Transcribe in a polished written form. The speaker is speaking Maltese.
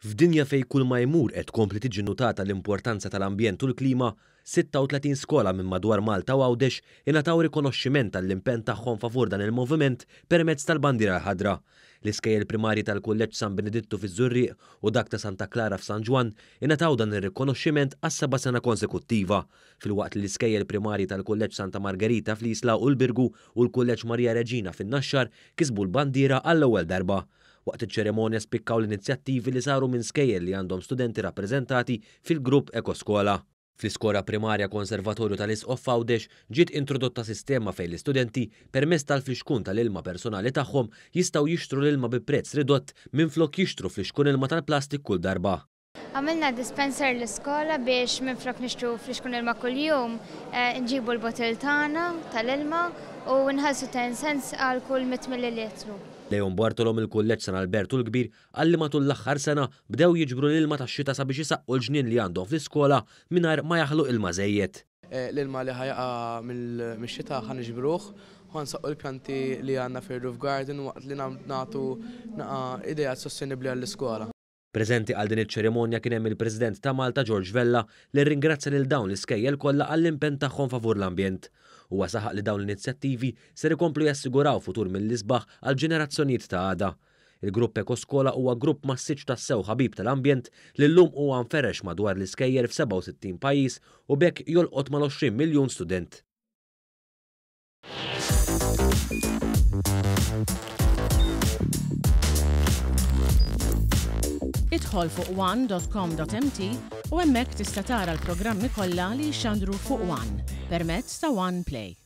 F'dinja fejn kull ma jmur qed tkompli tiġi nutata l-importanza tal-ambjent u l-klima, 36 skola minn madwar Malta u Għawdex ingħataw rikonoxximent għall-impenn tagħhom favur dan il-moviment permezz tal-Bandiera l-Ħadra. L-iskejjel primarji tal-Kulleġġ San Benedittu fiż-Żurrieq u dak ta' Santa Klara f'San Ġwann ingħataw dan ir-rikonoxximent għas-seba' sena konsekuttiva, filwaqt li l-iskejjel primarji tal-Kulleġġ Santa Margerita fl-Isla u l-Birgu u l-Kulleġġ Marija Reġina fin-Naxxar kisbu l-bandiera għall-ewwel darba. Waqt iċ-ċerimonja spikkaw l-inizjattivi li saru minn skejjel li għandhom studenti rappreżentati fil-grupp Ekoskola. Fl-Iskola Primarja Konservatorju tal-Isqof f'Għawdex ġiet introdotta sistema fejn l-istudenti, permezz tal-flixkun tal-ilma personali tagħhom, jistgħu jixtru l-ilma bi prezz ridott minflok jixtru flixkun ilma tal-plastik kull darba. Għamilna dispenser l-iskola biex minflok nixtru flixkun ilma kuljum, nġibu l-bottle tagħna tal-ilma u nħallsu 10 cents għal kull 100 millilitru. Leon Bartolo mill-Kulleġġ San Albertu l-Kbir qal li matul l-aħħar sena bdew jiġbru l-ilma tax-xita sabiex isaqqu l-ġnien li għandhom fl-iskola mingħajr ma jaħlu ilma żejjed. L-ilma li ħa jaqa' mix-xita ħa niġbruh u ħa nsaqqu l-pjanti li għandna fir-roof garden waqt li nagħtu naqa' ideat sostenibbli għall-iskola. Preżenti għal din iċ-ċerimonja kien hemm il-President ta' Malta George Vella li rringrazzja lil dawn l-iskejjel kollha għall-impenn tagħhom favur l-ambjent. Huwa saħaq li dawn l-inizjattivi ser ikomplu jassiguraw futur mill-isbaħ għall-ġenerazzjonijiet ta' għada. Il-Grupp Ekoskola huwa grupp massiċċ tassew ħabib tal-ambjent li llum huwa mferrex madwar l-iskejjel f'67 pajjiż u b'hekk jolqot mal-20 miljun student. Idħol fuq one.com.mt u hemmhekk tista' tara l-programmi kollha li jixxandru fuq One permezz ta' One Play.